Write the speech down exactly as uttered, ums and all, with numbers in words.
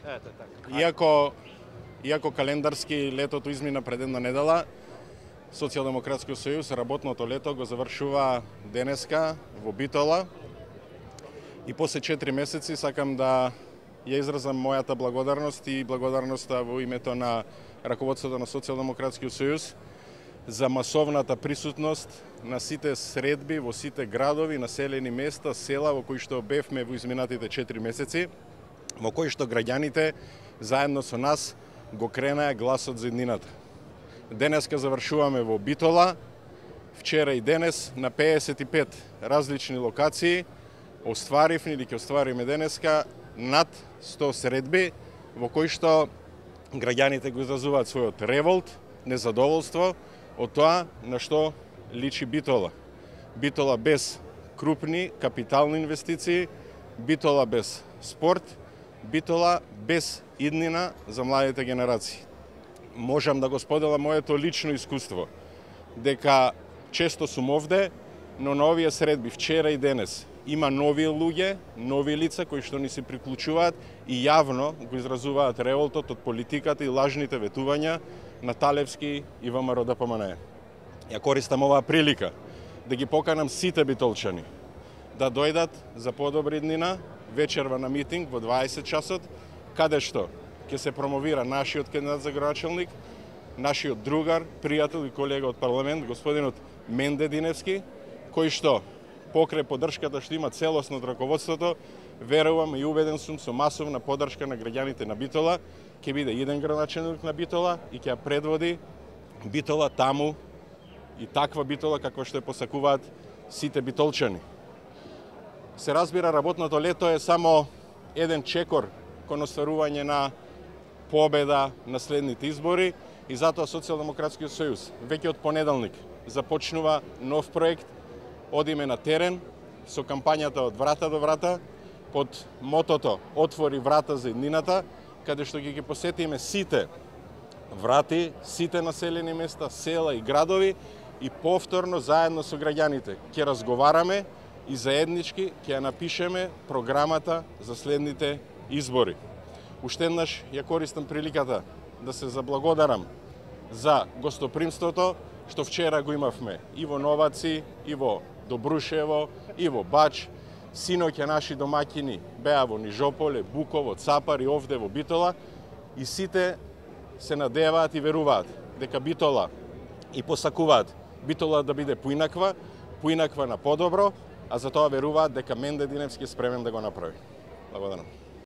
Ете така. Иако иако календарски летото измина пред една недела, Социјалдемократскиот сојуз работното лето го завршува денеска во Битола. И после четири месеци сакам да ја изразам мојата благодарност и благодарноста во името на раководството на Социјалдемократскиот сојуз за масовната присутност на сите средби во сите градови, населени места, села во кои што бевме во изминатите четири месеци, во кои што граѓаните заедно со нас го кренаа гласот за иднината. Денеска завршуваме во Битола, вчера и денес на пеесет и пет различни локации, остваривме или ќе оствариме денеска над сто средби во кои што граѓаните го изразуваат својот револт, незадоволство од тоа на што личи Битола. Битола без крупни капитални инвестиции, Битола без спорт, Битола без иднина за младите генерации. Можам да го споделам моето лично искуство, дека често сум овде, но на овие средби вчера и денес има нови луѓе, нови лица кои што ни се приклучуваат и јавно го изразуваат револтот од политиката и лажните ветувања на Талевски и ВМРО Д П М Н. Ја користам оваа прилика да ги поканам сите битолчани да дојдат за подобра иднина вечерва на митинг во дваесет часот, каде што ќе се промовира нашиот кандидат за градоначалник, нашиот другар, пријател и колега од парламент, господинот Менде Диневски, кој што покрај поддршката што има целосно од раководството, верувам и убеден сум со масовна поддршка на граѓаните на Битола, ќе биде иден градоначалник на Битола и ќе ја предводи Битола таму и таква Битола каква што ја посакуваат сите битолчани. Се разбира, работното лето е само еден чекор кон остварување на победа на следните избори и затоа Социјалдемократскиот сојуз веќе од понеделник започнува нов проект. Одиме на терен со кампањата од врата до врата под мотото "Отвори врата за иднината", каде што ќе ги посетиме сите врати, сите населени места, села и градови и повторно заедно со граѓаните ќе разговараме и заеднички ќе ја напишеме програмата за следните избори. Уште еднаш ја користам приликата да се заблагодарам за гостопримството што вчера го имавме и во Новаци, и во Добрушево, и во Бач. Синоќа наши домаќини беа во Нижополе, Буково, Цапар и овде во Битола и сите се надеваат и веруваат дека Битола и посакуваат Битола да биде поинаква, поинаква на подобро, а за тоа веруваат дека Менде Диневски е спремен да го направи. Благодарам.